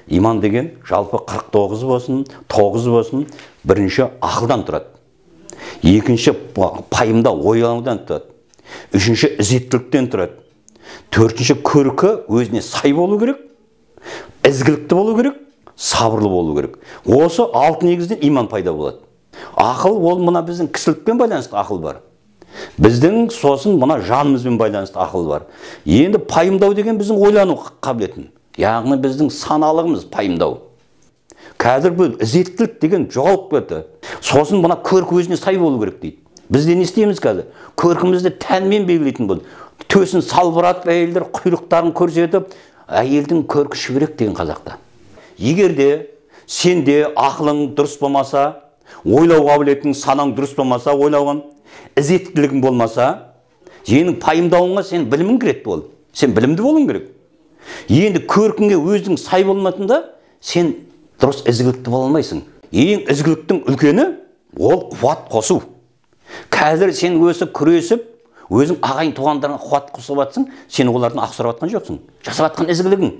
Иман деген жалпы 49 болсын, 9 болсын, бірінші ақылдан тұрады. Екінші пайымда ойланудан тұрады. Үшінші ізеттіліктен тұрады. Төртінші көркі өзіне сай болу керек, ізгілікті болу керек, сабырлы болу керек. Осы 6 негізден иман пайда болады. Ақыл ол мына біздің кісілікпен байланысты ақыл бар. Біздің сосын мына жанымызбен байланысты ақыл бар. Енді пайымдау деген біздің ойлану қабілетін. Яғни біздің саналығымыз пайымдау. Қазір бұл ізеттілік деген жоғалып кетті. Сосын мына көркі өзіне сай болу керек дейді. Бізде не істейміз қазір? Көркімізді тәнмен белгілейтін бұл. Төсін салбыратып, әйелдер құйрықтарын көрсетіп, әйелдің көркі шүберек деген қазақта. Егер де сенде ақылың дұрыс болмаса, ойлау қабілетің, санаң дұрыс болмаса, ойлауын, ізеттілігің болмаса, сенің пайымдауыңа сен білімің кіреді бол. Сен білімді болуың керек. Енді көркіңе өзің сай болмайтында, сен дұрыс ізгілікті бола алмайсың. Ең ізгіліктің үлкені ол қуат қосу. Қазір сен өзі күресіп, өзің ағайын туғандарыңа қуат қосып жатсың, сен олардың ақсырап жатқан жоқсың. Жасап жатқан ізгілігің.